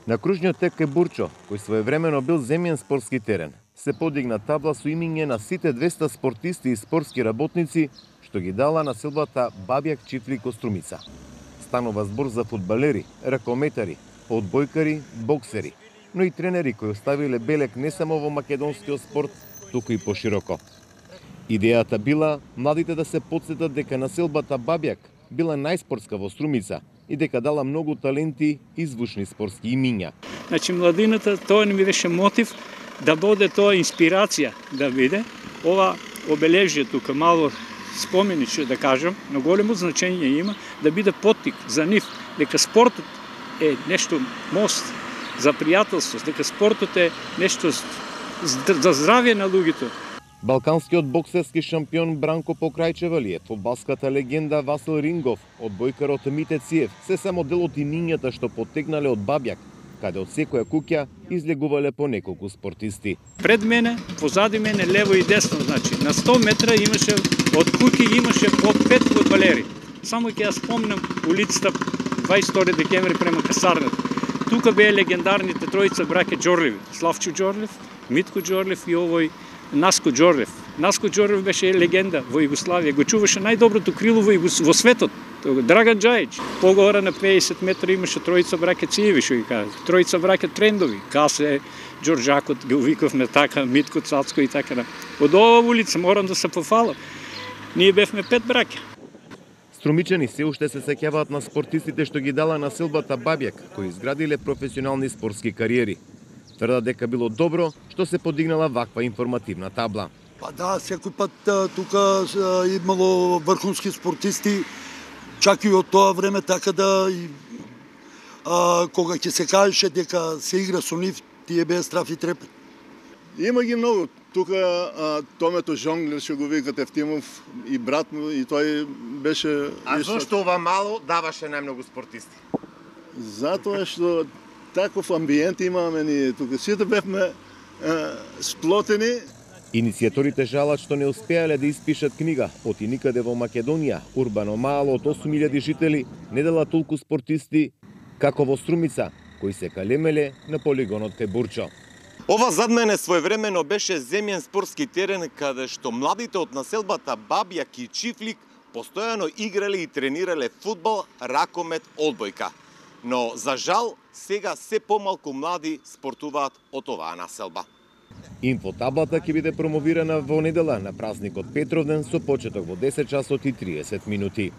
На кружниот тек кај Бурчо, кој своевремено бил земјен спортски терен, се подигна табла со имиња на сите 200 спортисти и спортски работници што ги дала населбата Бабјак Чифлик од Струмица. Станува збор за фудбалери, ракометари, одбојкари, боксери, но и тренери кои оставиле белек не само во македонскиот спорт, туку и пошироко. Идејата била младите да се потсетат дека населбата Бабјак била најспортска во Струмица и дека дала многу таленти и звучни спортски имиња. Значи младината, тоа не ми беше мотив да биде тоа инспирација да биде. Ова обележие тука мало спомениче да кажам, но големо значење има да биде поттик за нив дека спортот е нешто мост за пријателство, дека спортот е нешто за здравје на луѓето. Балканскиот боксерски шампион Бранко Покрајчевалиев, фудбалската легенда Васил Рингов, одбојкарот Мите Циев, се само дел од имињата што поттегнале од Бабјак, каде од секоја куќа излегувале по неколку спортисти. Пред мене, позади мене, лево и десно, значи на 100 метра имаше од куќи имаше по 5 фудбалери. Само ќе ја спомнам улицата 22 декември према касарната. Тука беа легендарните тројца браќа Џорлеви, Славчо Џорлев, Митко Џорлев и овој Наско Џорлев. Наско Џорлев беше легенда во Југославија, го чуваше најдоброто крило во светот. Драган Џајич. Погора на 50 метра имаше тројца браќа Циеви, што ги кажа. Тројца браќа Трендови. Касе, Џорџакот, го викавме така, Митко Цацко и така. Од ова улица морам да се пофалам. Ние бевме 5 браќа. Струмичани се уште се сеќаваат на спортистите што ги дала населбата Бабјак, кои изградиле професионални спортски кариери. Тврдат дека било добро што се подигнала ваква информативна табла. Па да, секој пат тука имало врхунски спортисти, чак и од тоа време, така да кога ќе се кажеше дека се игра со нив, тие беа страф и трепет. Има ги многу. Тука Томето Жонглер, што го викат Ефтимов, и брат му, и тој беше... А зошто ова мало даваше најмногу спортисти? Затоа што таков амбиент имаме ние тука. Сите бевме сплотени. Иницијаторите жалат што не успеале да испишат книга Оти никаде во Македонија, урбано мало од 8000 жители, не дала толку спортисти како во Струмица, кои се калемеле на полигонот кај Бурчо. Ова зад мене своевремено беше земјен спортски терен каде што младите од населбата Бабјак и Чифлик постојано играле и тренирале фудбал, ракомет, одбојка. Но за жал сега се помалку млади спортуваат од оваа населба. Инфотаблата ќе биде промовирана во недела на празникот Петровден со почеток во 10 часот и 30 минути.